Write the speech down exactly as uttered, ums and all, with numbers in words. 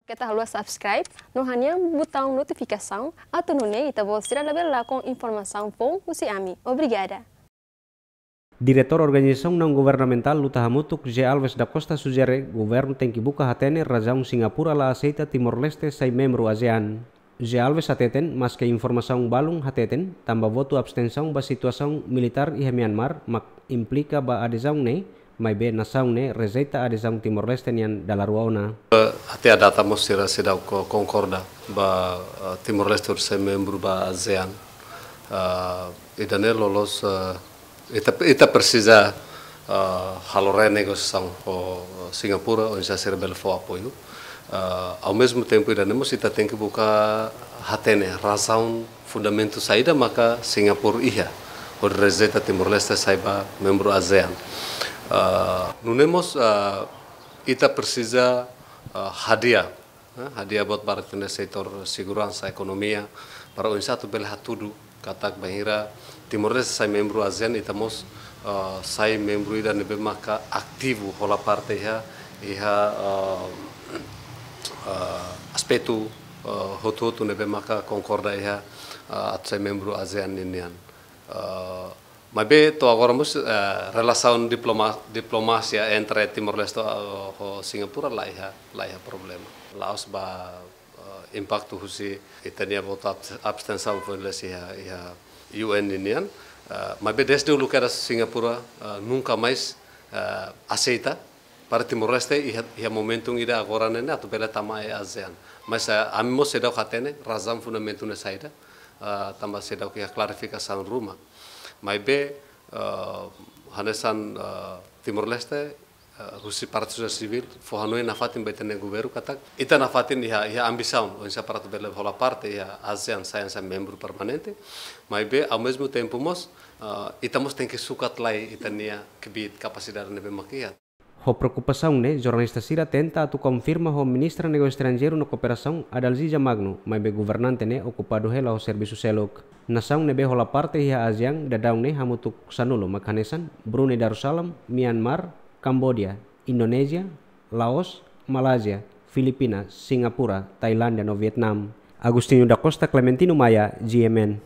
Keta haluha subscribe no hanehan butaun notifikasaun atu nune'e ita-boot sira labele lakon informasaun foun husi ami. Obrigada. Diretór Organizasaun Naun Governamentál Luta Hamutuk, José Alves da Costa sujere governu tenke buka hatene razaun Singapura la aseita Timor-Leste sai membru ASEAN. José Alves hateten, maske informasaun balun hateten tanba votu abstensaun ba situasaun militár iha Myanmar mak implika ba adezaun ne'e, maibé nasaun ne'e rejeita adezaun Timor-Leste nian dala rua ona. Até à data mós sira seidauk konkorda ba Timor-Leste hodi sai membru ba ASEAN. Ida-ne'e loloos ita presiza halo renegosiasaun ho Singapura oinsá sira bele fó apoiu. Ao mesmo tempo ida-ne'e mós ita tenke buka hatene razaun, fundamentu saida maka Singapura iha hodi rejeita Timor-Leste sai ba membru ASEAN. Nune'e mós ita presiza hadi'a, hadi'a buat barak ita-nia setór seguransa, ekonomia, para oinsá atu bele hatudu katak bainhira Timor-Leste sai membru ASEAN, ita mós sai membru ida ne'ebé maka ativu, hola parte iha, iha aspetu hotu-hotu ne'ebé maka konkorda iha atu sai membru ASEAN ninian. Maibé to'o agora mós relasaun diplomasia entre Timor-Leste ho Singapura la iha, la iha problema. La'ós ba impaktu husi ita-nia votu abstensaun foin-sa'e iha, iha U N ninian. Maibé dezde uluk kedas Singapura nunka mais aseita para Timor-Leste iha, iha momentu ida agora ne'e atu bele tama iha ASEAN. Mas ami mós seidauk hatene razaun fundamentu ne'e saida, tanba seidauk iha klarifikasaun ruma. Maibé hanesan Timor-Leste husi parte sosiedade sivíl fó hanoin nafatin ba ita-nia governu katak ita nafatin iha, iha ambisaun oinsá para atu bele hola parte iha ASEAN sai hanesan membru permanente. Maibé ao mesmo tempo mós ita mós tenke sukat lai ita-nia kbiit, kapasidade ne'ebé mak iha. Ho preokupasaun ne'e, jornalista sira tenta atu konfirma ho Ministra Negósiu Estranjeiru no Kooperasaun, Adalzija Magno, maibé governante ne'e okupadu hela ho servisu seluk. Nasaun ne'ebé hola parte iha ASEAN daudaun ne'e hamutuk sanulu mak hanesan Brunei Darussalam, Myanmar, Kamboja, Indonézia, Laos, Malázia, Filipinas, Singapura, Tailándia no Vietnam. Agostinho da Costa, Clementino Maia, G M N.